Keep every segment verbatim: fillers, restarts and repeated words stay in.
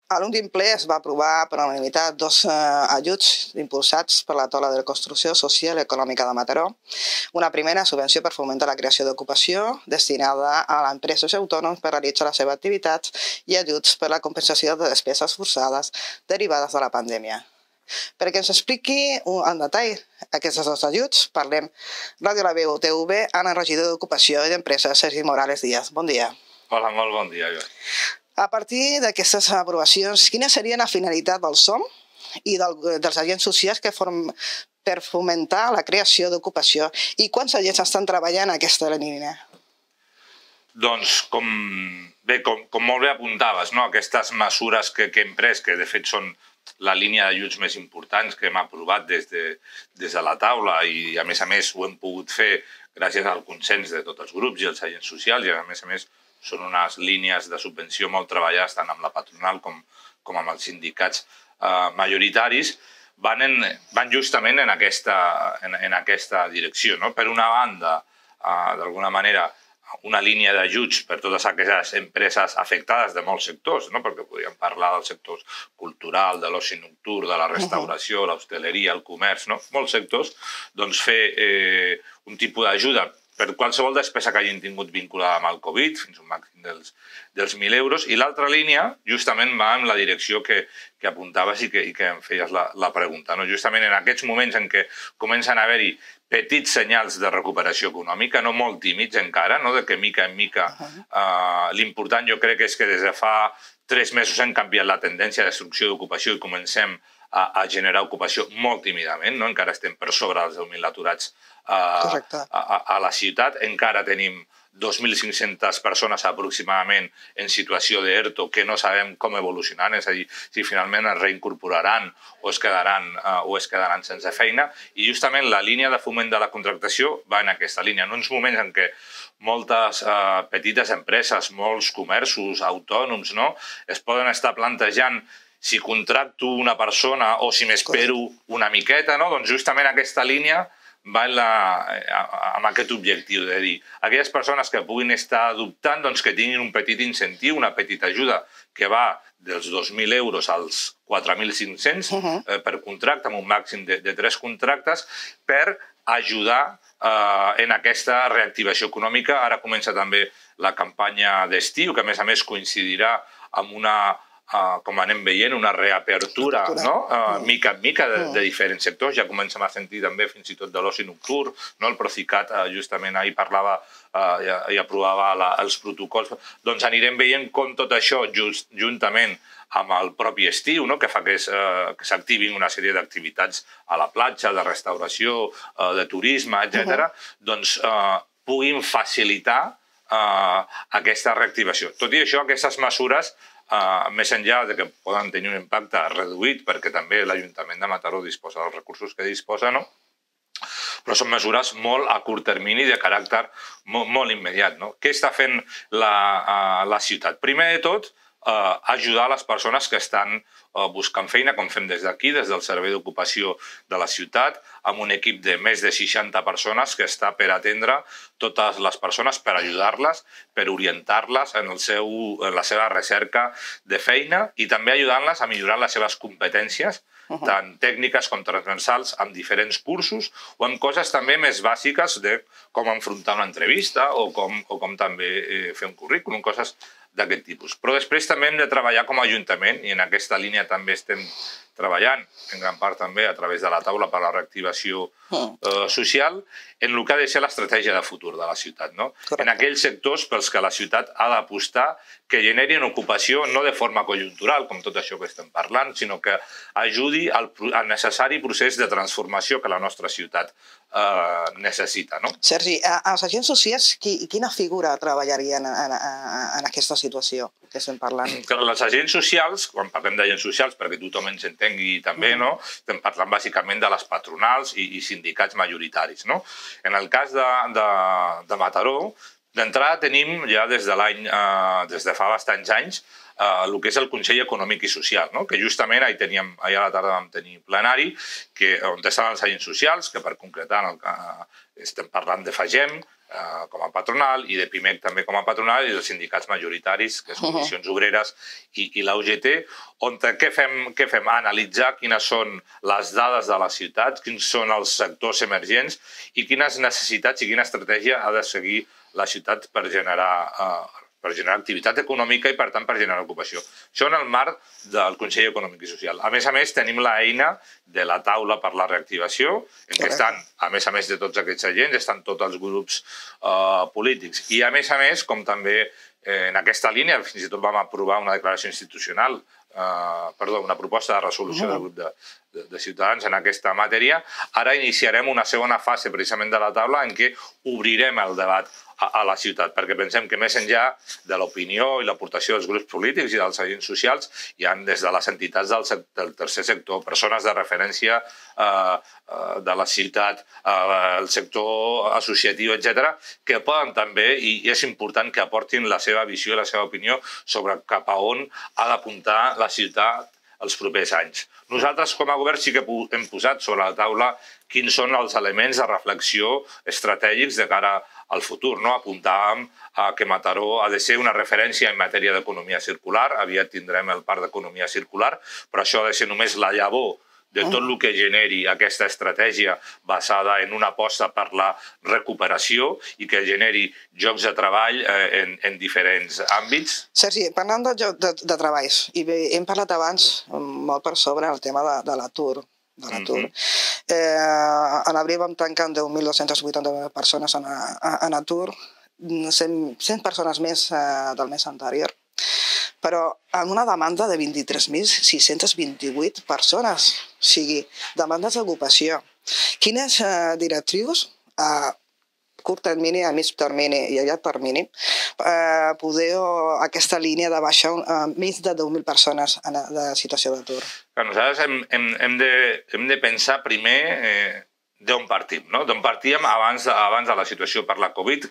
A l'últim ple es va aprovar per unanimitat dos eh, ajuts impulsats per la taula de reconstrucció social i econòmica de Mataró. Una primera, subvenció per fomentar la creació d'ocupació, destinada a empreses i autònoms per realitzar les seves activitats, i ajuts per la compensació de despeses forçades derivades de la pandèmia. Perquè ens expliqui en detall aquests dos ajuts, parlem Ràdio La Veu T V, amb el regidor d'Ocupació i d'Empresa, Sergi Morales Díaz. Bon dia. Hola, molt bon dia, Joan. A partir d'aquestes aprovacions, quina seria la finalitat del S O M i del, dels agents socials que form, per fomentar la creació d'ocupació, i quants agents estan treballant en aquesta línia? Doncs, com, bé, com, com molt bé apuntaves, no? Aquestes mesures que, que hem pres, que de fet són la línia d'ajuts més importants que hem aprovat des de, des de la taula, i a més a més ho hem pogut fer gràcies al consens de tots els grups i els agents socials, i a més a més són unes línies de subvenció molt treballades tant amb la patronal com, com amb els sindicats eh, majoritaris, van, en, van justament en aquesta, en, en aquesta direcció. No? Per una banda, eh, d'alguna manera, una línia d'ajuts per totes aquelles empreses afectades de molts sectors, no? Perquè podríem parlar dels sectors cultural, de l'oci nocturn, de la restauració, uh-huh. l'hostaleria, el comerç, no? Molts sectors, doncs fer eh, un tipus d'ajuda per qualsevol despesa que hagin tingut vinculada amb el Covid, fins a un màxim dels, dels mil euros, i l'altra línia justament va en la direcció que, que apuntaves i que, i que em feies la, la pregunta. No? Justament en aquests moments en què comencen a haver-hi petits senyals de recuperació econòmica, no molt tímids encara, no? De que mica en mica eh, l'important jo crec és que des de fa tres mesos hem canviat la tendència de destrucció d'ocupació i comencem a, a generar ocupació molt tímidament, no? Encara estem per sobre dels deu mil aturats a, a, a la ciutat, encara tenim dos mil cinc-centes persones aproximadament en situació d'ERTO que no sabem com evolucionaran, és a dir, si finalment es reincorporaran o es quedaran, uh, o es quedaran sense feina, i justament la línia de foment de la contractació va en aquesta línia, en uns moments en què moltes uh, petites empreses, molts comerços, autònoms, no? Es poden estar plantejant si contracto una persona o si m'espero una miqueta, no? Doncs justament aquesta línia va en la, amb aquest objectiu de dir aquelles persones que puguin estar dubtant doncs que tinguin un petit incentiu, una petita ajuda que va dels dos mil euros als quatre mil cinc-cents uh-huh. eh, per contracte, amb un màxim de, de tres contractes, per ajudar eh, en aquesta reactivació econòmica. Ara comença també la campanya d'estiu, que a més a més coincidirà amb una Uh, com anem veient, una reapertura, no? uh, mica en mica de, de diferents sectors. Ja comencem a sentir també fins i tot de l'oci nocturn, no? El Procicat uh, justament ahir parlava uh, i, i aprovava la, els protocols. Doncs anirem veient com tot això, just, juntament amb el propi estiu, no? Que fa que s'activin uh, una sèrie d'activitats a la platja, de restauració, uh, de turisme, etcètera, uh-huh. doncs uh, puguin facilitar uh, aquesta reactivació. Tot i això, aquestes mesures, Uh, més enllà de que poden tenir un impacte reduït, perquè també l'Ajuntament de Mataró disposa dels recursos que disposa, no? Però són mesures molt a curt termini, de caràcter molt, molt immediat. No? Què està fent la, uh, la ciutat? Primer de tot, uh, ajudar les persones que estan uh, buscant feina, com fem des d'aquí, des del Servei d'Ocupació de la ciutat, amb un equip de més de seixanta persones que està per atendre totes les persones, per ajudar-les, per orientar-les en, el seu, en la seva recerca de feina i també ajudant-les a millorar les seves competències, uh-huh. tant tècniques com transversals, amb diferents cursos o amb coses també més bàsiques de com enfrontar una entrevista o com, o com també eh, fer un currículum, coses d'aquest tipus. Però després també hem de treballar com a Ajuntament, i en aquesta línia també estem treballant, en gran part també a través de la taula per a la reactivació eh, social, en el que ha de ser l'estratègia de futur de la ciutat. No? En aquells sectors pels que la ciutat ha d'apostar que generin ocupació no de forma conjuntural, com tot això que estem parlant, sinó que ajudi al, al necessari procés de transformació que la nostra ciutat eh, necessita. No? Sergi, als agents socials, qui, quina figura treballarien en, en, en aquesta situació que estem parlant? Els agents socials, quan parlem d'agents socials, perquè tothom ens entengui també, uh-huh. no? Estem parlant bàsicament de les patronals i, i sindicats majoritaris. No? En el cas de, de, de Mataró, d'entrada tenim ja des de l'any, eh, des de fa bastants anys, eh, el que és el Consell Econòmic i Social, no? Que justament ahir, teníem, ahir a la tarda vam tenir plenari, que, on estaven els agents socials, que per concretar el, eh, estem parlant de FAGEM, com a patronal, i de Pimec també com a patronal, i dels sindicats majoritaris, que són Comissions Obreres i la U G T, on què fem? Què fem? Analitzar quines són les dades de la ciutat, quins són els sectors emergents i quines necessitats i quina estratègia ha de seguir la ciutat per generar per generar activitat econòmica i, per tant, per generar ocupació. Això en el marc del Consell Econòmic i Social. A més a més, tenim l'eina de la taula per la reactivació, en què estan, a més a més de tots aquests agents, estan tots els grups polítics. I, a més a més, com també en aquesta línia, fins i tot vam aprovar una declaració institucional, perdó, una proposta de resolució del grup de Ciutadans en aquesta matèria, ara iniciarem una segona fase, precisament de la taula, en què obrirem el debat a la ciutat, perquè pensem que més enllà de l'opinió i l'aportació dels grups polítics i dels agents socials, hi ha des de les entitats del tercer sector, persones de referència de la ciutat, el sector associatiu, etcètera, que poden també, i és important que aportin la seva visió i la seva opinió sobre cap a on ha d'apuntar la ciutat els propers anys. Nosaltres, com a govern, sí que hem posat sobre la taula quins són els elements de reflexió estratègics de cara al futur. Apuntàvem que Mataró ha de ser una referència en matèria d'economia circular, aviat tindrem el parc d'economia circular, però això ha de ser només la llavor de tot el que generi aquesta estratègia basada en una aposta per la recuperació i que generi llocs de treball en diferents àmbits. Sergi, parlant de treballs, i hem parlat abans molt per sobre el tema de l'atur. En abril vam tancar amb deu mil dos-centes vuitanta persones en atur, cent persones més del mes anterior, però amb una demanda de vint-i-tres mil sis-cents vint-i-vuit persones, o sigui, demandes d'ocupació. Quines directrius a curt termini, a mig termini i a llarg termini podeu aquesta línia de baixar més de deu mil persones en la situació d'atur? Nosaltres hem de pensar primer d'on partim, d'on partíem abans de la situació per la Covid.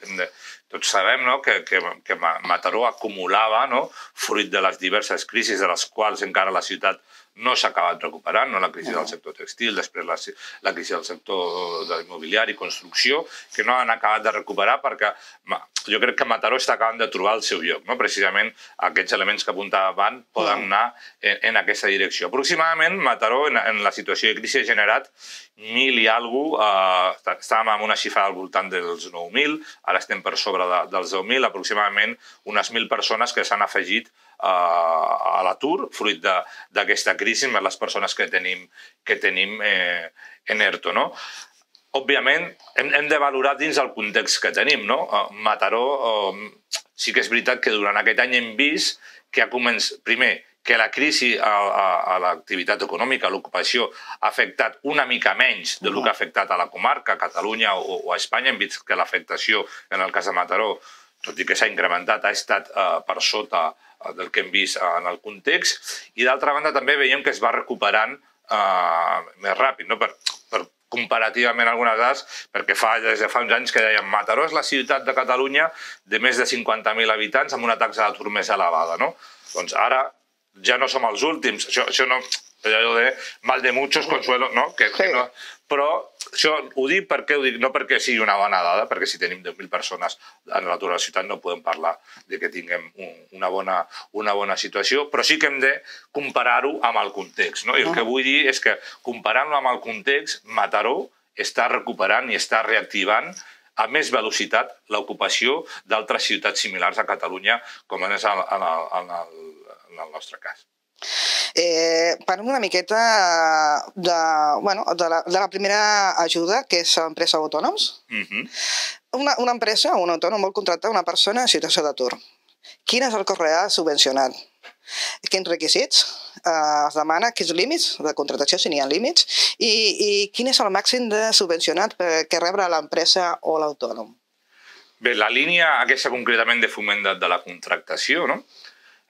Tots sabem que Mataró acumulava, fruit de les diverses crisis de les quals encara la ciutat no s'ha acabat recuperant, la crisi del sector textil, després la crisi del sector de l'immobiliari i construcció, que no han acabat de recuperar perquè jo crec que Mataró està acabant de trobar el seu lloc. Precisament aquests elements que apuntava abans poden anar en aquesta direcció. Aproximadament, Mataró, en la situació de crisi, ha generat mil i alguna cosa, estàvem amb una xifra al voltant dels nou mil, ara estem per sobre dels deu mil, aproximadament unes mil persones que s'han afegit a l'atur, fruit d'aquesta crisi, amb les persones que tenim en ERTO. Òbviament, hem de valorar dins el context que tenim. Mataró, sí que és veritat que durant aquest any hem vist que ha començat, primer, que la crisi a l'activitat econòmica, a l'ocupació, ha afectat una mica menys del que ha afectat a la comarca, a Catalunya o a Espanya. Hem vist que l'afectació, en el cas de Mataró, tot i que s'ha incrementat, ha estat per sota del que hem vist en el context. I d'altra banda també veiem que es va recuperant més ràpid, comparativament a algunes dades, perquè des de fa uns anys que dèiem Mataró és la ciutat de Catalunya de més de cinquanta mil habitants amb una taxa d'atur més elevada. Doncs ara ja no som els últims. Això no... allò de mal de muchos, consuelo, no? Però això ho dic perquè ho dic, no perquè sigui una bona dada, perquè si tenim deu mil persones en l'atur a la ciutat no podem parlar de que tinguem una bona situació, però sí que hem de comparar-ho amb el context. I el que vull dir és que comparant-ho amb el context, Mataró està recuperant i està reactivant a més velocitat l'ocupació d'altres ciutats similars a Catalunya, com és en el nostre cas. Parlem una miqueta de la primera ajuda, que és l'empresa autònoms. Una empresa, un autònom vol contractar una persona en situació d'atur. Quin és el cost real subvencionat? Quins requisits es demana, quins límits de contractació, si n'hi ha límits, i quin és el màxim de subvencionat que rebre l'empresa o l'autònom? Bé, la línia aquesta concretament de foment de la contractació, no?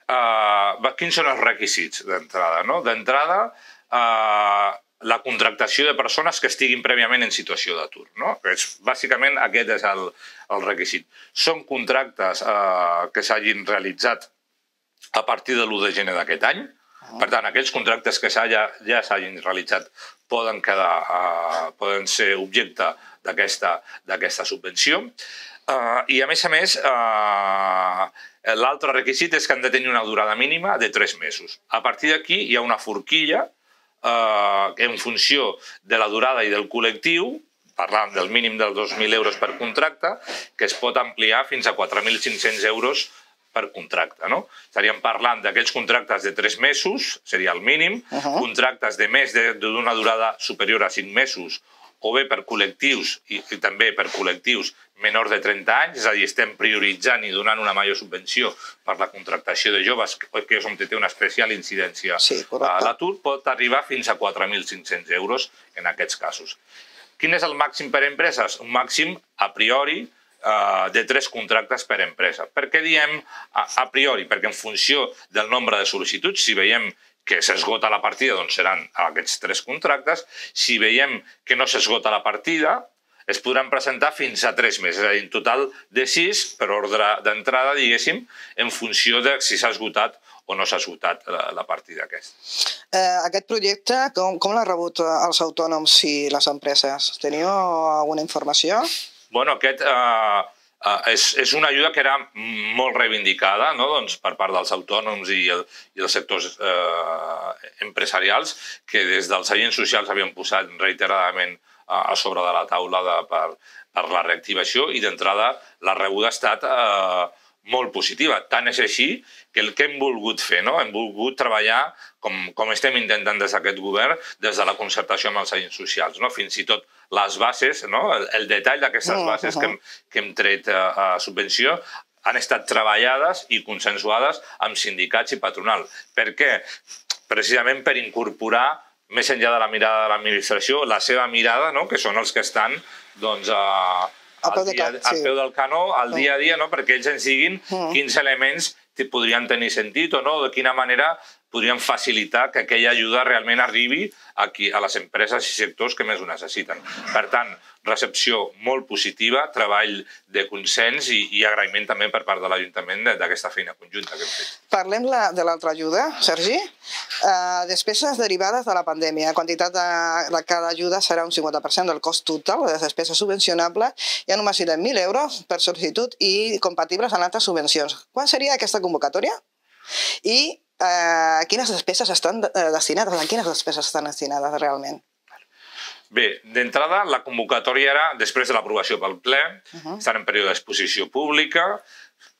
Quins són els requisits d'entrada? D'entrada, la contractació de persones que estiguin prèviament en situació d'atur. Bàsicament aquest és el requisit. Són contractes que s'hagin realitzat a partir de l'u de gener d'aquest any. Per tant, aquells contractes que ja s'hagin realitzat poden ser objecte d'aquesta subvenció. Uh, I, a més a més, uh, l'altre requisit és que han de tenir una durada mínima de tres mesos. A partir d'aquí hi ha una forquilla uh, en funció de la durada i del col·lectiu, parlant del mínim dels dos mil euros per contracte, que es pot ampliar fins a quatre mil cinc-cents euros per contracte, no? Estaríem parlant d'aquells contractes de tres mesos, seria el mínim, uh -huh. contractes de més d'una durada superior a cinc mesos, o bé per col·lectius i, i també per col·lectius menors de trenta anys, és a dir, estem prioritzant i donant una major subvenció per la contractació de joves, que és on té una especial incidència sí, a l'atur, pot arribar fins a quatre mil cinc-cents euros en aquests casos. Quin és el màxim per empreses? Un màxim, a priori, de tres contractes per empresa. Per què diem a priori? Perquè en funció del nombre de sol·licituds, si veiem que s'esgota la partida, doncs seran aquests tres contractes. Si veiem que no s'esgota la partida, es podran presentar fins a tres mesos, és a dir, en total de sis, per ordre d'entrada, diguéssim, en funció de si s'ha esgotat o no s'ha esgotat la, la partida aquesta. Eh, aquest projecte, com, com l'ha rebut els autònoms i les empreses? Teniu alguna informació? Bueno, aquest eh, eh, és, és una ajuda que era molt reivindicada, no? Doncs, per part dels autònoms i, el, i dels sectors eh, empresarials, que des dels agents socials havien posat reiteradament a sobre de la taula de, per, per la reactivació, i d'entrada la rebuda ha estat eh, molt positiva. Tant és així que el que hem volgut fer, no? Hem volgut treballar, com, com estem intentant des d'aquest govern, des de la concertació amb els agents socials, no? Fins i tot les bases, no? el, el detall d'aquestes bases uh -huh. que, hem, que hem tret a, a subvenció han estat treballades i consensuades amb sindicats i patronal. Per què? Precisament per incorporar, més enllà de la mirada de l'administració, la seva mirada, no? Que són els que estan doncs, a, al, dia, al peu del canó, al dia a dia, no? Perquè ells ens diguin quins elements podrien tenir sentit o no, de quina manera podrien facilitar que aquella ajuda realment arribi aquí, a les empreses i sectors que més ho necessiten. Per tant, recepció molt positiva, treball de consens i, i agraïment també per part de l'Ajuntament d'aquesta feina conjunta que hem fet. Parlem la, de l'altra ajuda, Sergi. Uh, despeses derivades de la pandèmia. La quantitat de, de cada ajuda serà un cinquanta per cent del cost total de les despeses subvencionables. Hi ha només de mil euros per sol·licitud i compatibles amb altres subvencions. Quan seria aquesta convocatòria? I Uh, quines despeses estan uh, destinades? A quines despeses estan destinades realment? Bé, d'entrada, la convocatòria era després de l'aprovació pel ple, uh -huh. estan en període d'exposició pública,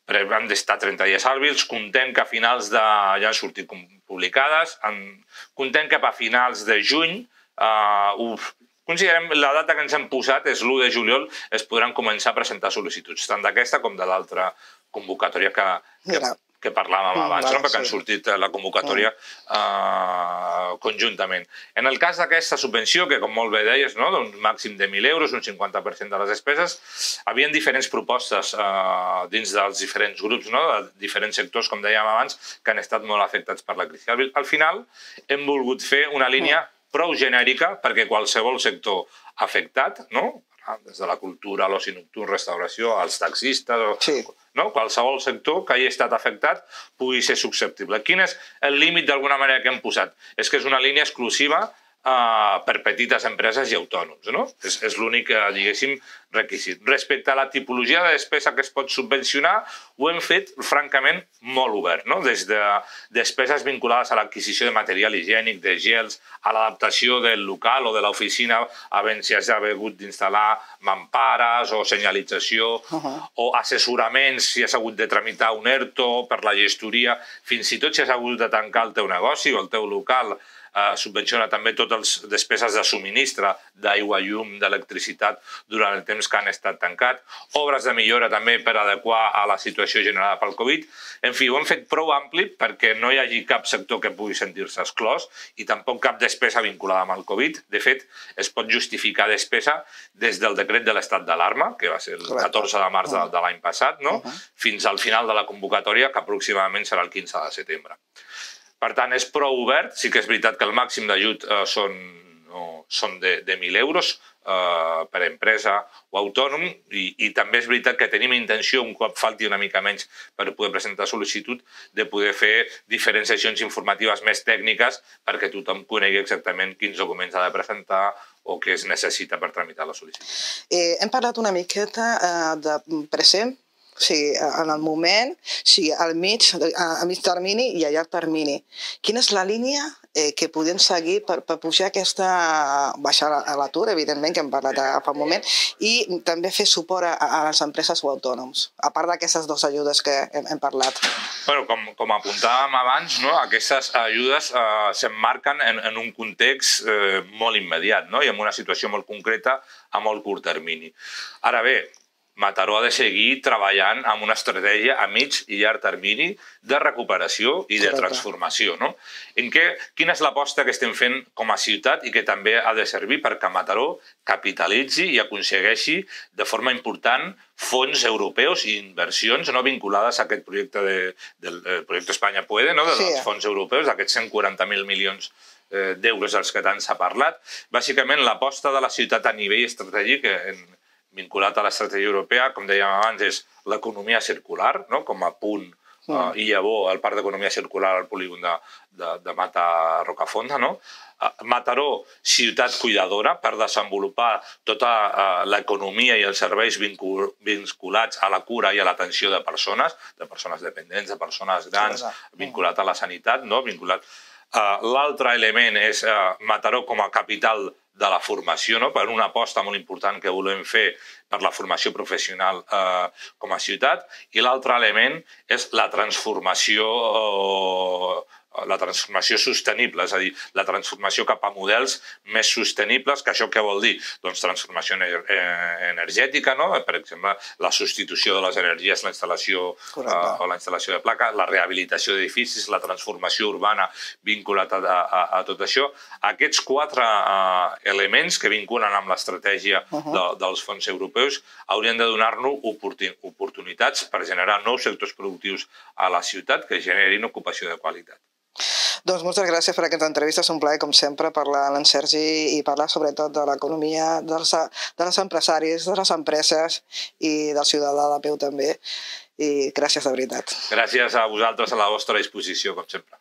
han d'estar trenta dies hàbils, contem que a finals de... ja han sortit publicades, en... contem que a finals de juny, uh, uf, considerem la data que ens hem posat és l'u de juliol, es podran començar a presentar sol·licituds, tant d'aquesta com de l'altra convocatòria que... que... que parlàvem abans, no? Perquè han sortit la convocatòria uh, conjuntament. En el cas d'aquesta subvenció, que com molt bé deies, no? D'un màxim de mil euros, un cinquanta per cent de les despeses, havien diferents propostes uh, dins dels diferents grups, no? De diferents sectors, com dèiem abans, que han estat molt afectats per la crisi. Al final, hem volgut fer una línia prou genèrica perquè qualsevol sector afectat, no? Des de la cultura, l'oci nocturn, restauració, els taxistes... Sí. No? Qualsevol sector que hagi estat afectat pugui ser susceptible. Quin és el límit d'alguna manera que hem posat? És que és una línia exclusiva uh, per petites empreses i autònoms, no? És, és l'únic, uh, diguéssim, requisit. Respecte a la tipologia de despesa que es pot subvencionar, ho hem fet, francament, molt obert, no? Des de despeses vinculades a l'adquisició de material higiènic, de gels, a l'adaptació del local o de l'oficina, havent si has hagut d'instal·lar mampares o senyalització, uh -huh. o assessoraments si has hagut de tramitar un ERTO per la gestoria, fins i tot si has hagut de tancar el teu negoci o el teu local. Uh, subvenciona també totes les despeses de subministre d'aigua, llum, d'electricitat durant el temps que han estat tancat, obres de millora també per adequar a la situació generada pel Covid. En fi, ho hem fet prou ampli perquè no hi hagi cap sector que pugui sentir-se exclòs i tampoc cap despesa vinculada amb el Covid. De fet, es pot justificar despesa des del decret de l'estat d'alarma, que va ser el catorze de març de, de l'any passat, no? Fins al final de la convocatòria, que aproximadament serà el quinze de setembre. Per tant, és prou obert. Sí que és veritat que el màxim d'ajut eh, són no, són de, de mil euros eh, per empresa o autònom i, i també és veritat que tenim intenció, un cop falti una mica menys per poder presentar sol·licitud, de poder fer diferents sessions informatives més tècniques perquè tothom conegui exactament quins documents ha de presentar o què es necessita per tramitar la sol·licitud. Eh, hem parlat una miqueta eh, de present, o sigui, en el moment, o sigui, al mig, a mig termini i a llarg termini. Quina és la línia eh, que podem seguir per, per pujar aquesta, baixar a l'atur, evidentment, que hem parlat fa un moment, i també fer suport a, a les empreses o autònoms, a part d'aquestes dues ajudes que hem, hem parlat? Bueno, com, com apuntàvem abans, no? Aquestes ajudes eh, s'emmarquen en, en un context eh, molt immediat, no? I en una situació molt concreta a molt curt termini. Ara bé, Mataró ha de seguir treballant amb una estratègia a mig i llarg termini de recuperació i de transformació. No? En què, quina és l'aposta que estem fent com a ciutat i que també ha de servir perquè Mataró capitalitzi i aconsegueixi de forma important fons europeus i inversions no vinculades a aquest projecte de, del projecte Espanya Puede, no? Dels sí. fons europeus, d'aquests cent quaranta mil milions d'euros als que tant s'ha parlat. Bàsicament, l'aposta de la ciutat a nivell estratègic en vinculat a l'estratègia europea, com dèiem abans, és l'economia circular, no? Com a punt mm. uh, i llavor el parc d'economia circular al polígon de, de, de Mata Rocafonda. No? Uh, Mataró, ciutat cuidadora, per desenvolupar tota uh, l'economia i els serveis vincul vinculats a la cura i a l'atenció de persones, de persones dependents, de persones grans, sí, vinculat a la sanitat, no? Vinculat... Uh, L'altre element és uh, Mataró com a capital de la formació, no? Per una aposta molt important que volem fer per la formació professional eh, com a ciutat. I l'altre element és la transformació, eh, la transformació sostenible, és a dir, la transformació cap a models més sostenibles, que això què vol dir? Doncs transformació energètica, no? Per exemple, la substitució de les energies, la instal·lació eh, o la instal·lació de placa, la rehabilitació d'edificis, la transformació urbana vinculada a, a, a tot això. Aquests quatre eh, elements que vinculen amb l'estratègia uh -huh. de, dels fons europeus haurien de donar-nos oportunitats per generar nous sectors productius a la ciutat que generin ocupació de qualitat. Doncs moltes gràcies per aquesta entrevista. És un plaer, com sempre, parlar amb en Sergi i parlar sobretot de l'economia, dels, dels empresaris, de les empreses i del ciutadà de peu també. I gràcies de veritat. Gràcies a vosaltres, a la vostra disposició, com sempre.